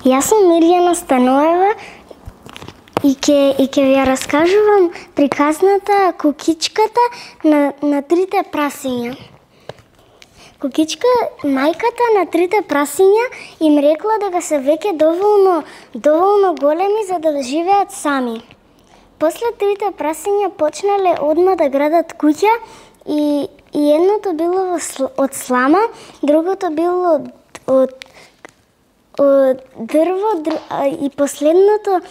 Јас сум Мирјана Станоева и ќе ви ја раскажувам приказната Кукичката на трите прасиња. Кукичка, мајката на трите прасиња им рекла дека се веќе доволно големи за да живеат сами. После трите прасиња почнале одма да градат куќа и едното било од слама, другото било од дрво и последната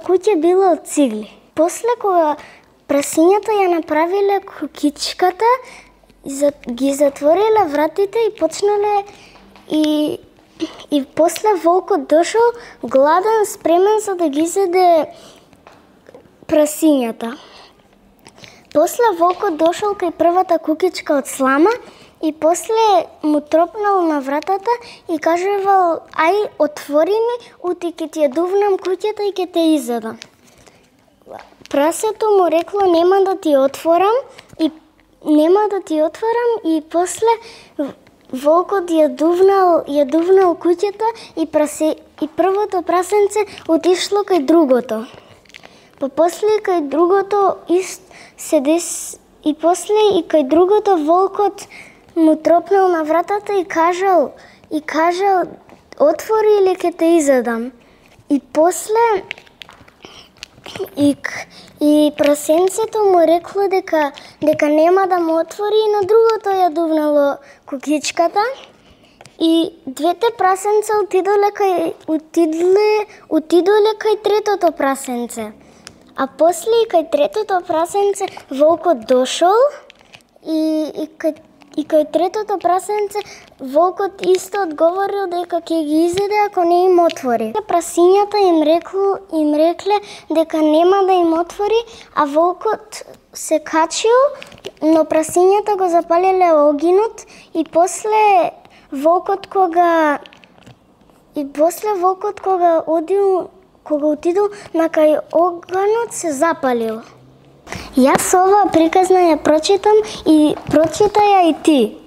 куќа било од цигли. После кога прасињата ја направиле кукичката, ги затвориле вратите и почнале и после волкот дошол гладен, спремен за да ги зеде прасињата. После волкот дошол кај првата кукичка од слама и после му тропнал на вратата и кажувал: "Ај, отвори ми, ути ќе ти ја дувнам куќата и ќе те изедам." Прасето му рекло: "Нема да ти отворам" и после волкот ја дувнал куќата и првото прасенце отишло кај другото. После кај другото кај другото волкот му тропнал на вратата и кажал: "Отвори или ќе те изедам." И после и прасенцето му рекло дека нема да му отвори и на другото ја дувнало кукичката. И двете прасенца отидоле кај третото прасенце. А после и кај третото прасенце волкот дошол и кај третото прасенце волкот исто одговорил дека ќе ги изеде ако не им отвори. Прасињата им рекле дека нема да им отвори, а волкот се качил, но прасињата го запалиле огинот и после волкот кога отидол на кај оганот се запалил. Јас оваа приказна ја прочитам и прочита ја и ти.